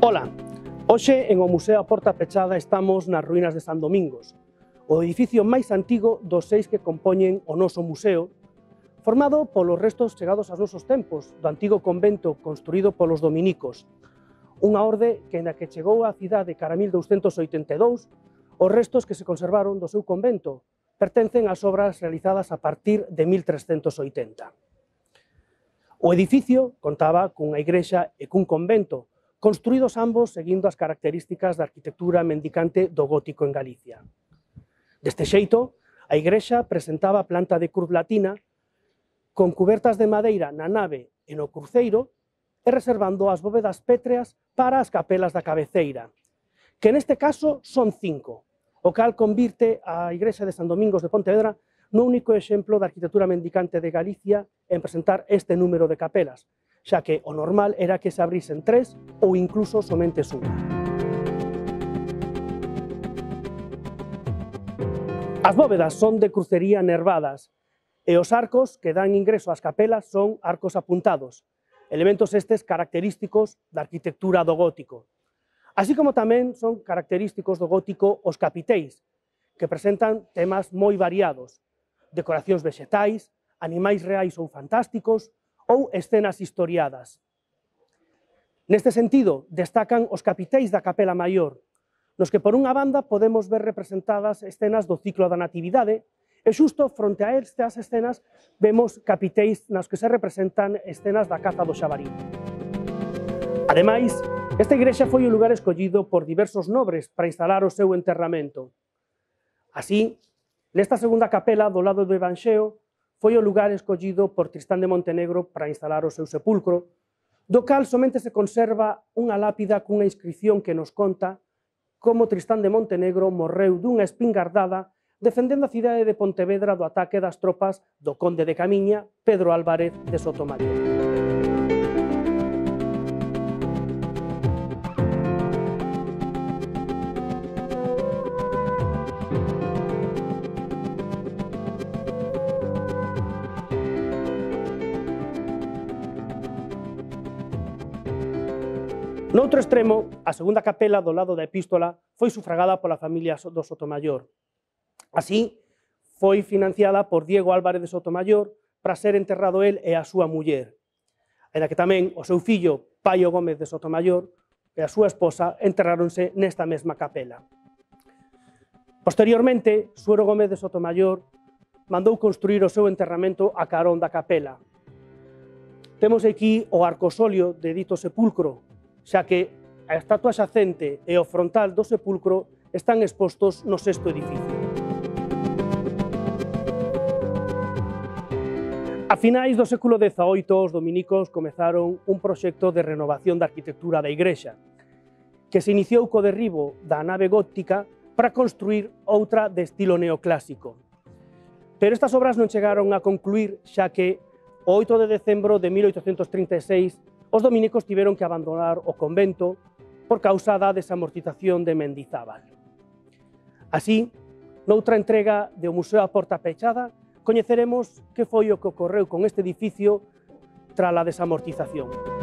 Ola, hoxe en o Museo A Porta Pechada estamos nas ruínas de San Domingos, o edificio máis antigo dos 6 que compoñen o noso museo, formado polos restos chegados aos nosos tempos do antigo convento construído polos dominicos, unha orde que na que chegou á cidade cara a 1282, os restos que se conservaron do seu convento pertencen ás obras realizadas a partir de 1380. O edificio contaba cunha igrexa e cun convento, construídos ambos seguindo as características da arquitectura mendicante do gótico en Galicia. Deste xeito, a igrexa presentaba planta de cruz latina, con cubertas de madeira na nave e no cruceiro, e reservando as bóvedas pétreas para as capelas da cabeceira, que neste caso son 5, o cal convirte a igrexa de San Domingos de Pontevedra no único exemplo da arquitectura mendicante de Galicia en presentar este número de capelas, xa que o normal era que se abrisen 3 ou incluso somente unha. As bóvedas son de crucería nervadas e os arcos que dan ingreso ás capelas son arcos apuntados, elementos estes característicos da arquitectura do gótico. Así como tamén son característicos do gótico os capiteis, que presentan temas moi variados, decoracións vexetais, animais reais ou fantásticos, ou escenas historiadas. Neste sentido, destacan os capiteis da Capela Maior, nos que por unha banda podemos ver representadas escenas do ciclo da Natividade, e xusto fronte a estas escenas vemos capiteis nas que se representan escenas da caza do xabarí. Ademais, esta igrexa foi o lugar escollido por diversos nobres para instalar o seu enterramento. Así, nesta segunda capela do lado do Evanxeo, foi o lugar escollido por Tristán de Montenegro para instalar o seu sepulcro, do cal somente se conserva unha lápida cunha inscrición que nos conta como Tristán de Montenegro morreu dunha espingardada defendendo a cidade de Pontevedra do ataque das tropas do conde de Camiña, Pedro Álvarez de Sotomayor. Noutro extremo, a segunda capela do lado da Epístola foi sufragada pola familia do Sotomayor. Así, foi financiada por Diego Álvarez de Sotomayor para ser enterrado el e a súa muller, aínda que tamén o seu fillo, Paio Gómez de Sotomayor, e a súa esposa enterráronse nesta mesma capela. Posteriormente, Suero Gómez de Sotomayor mandou construir o seu enterramento a carón da capela. Temos aquí o arcosolio de dito sepulcro, xa que a estatua xacente e o frontal do sepulcro están expostos no sexto edificio. A finais do século XVIII, os dominicos comezaron un proxecto de renovación da arquitectura da igrexa, que se iniciou co derribo da nave gótica para construir outra de estilo neoclásico. Pero estas obras non chegaron a concluir, xa que o 8 de decembro de 1836 os dominicos tiveron que abandonar o convento por causa da desamortización de Mendizábal. Así, noutra entrega do Museo A Porta Pechada, coñeceremos que foi o que ocorreu con este edificio tras a desamortización.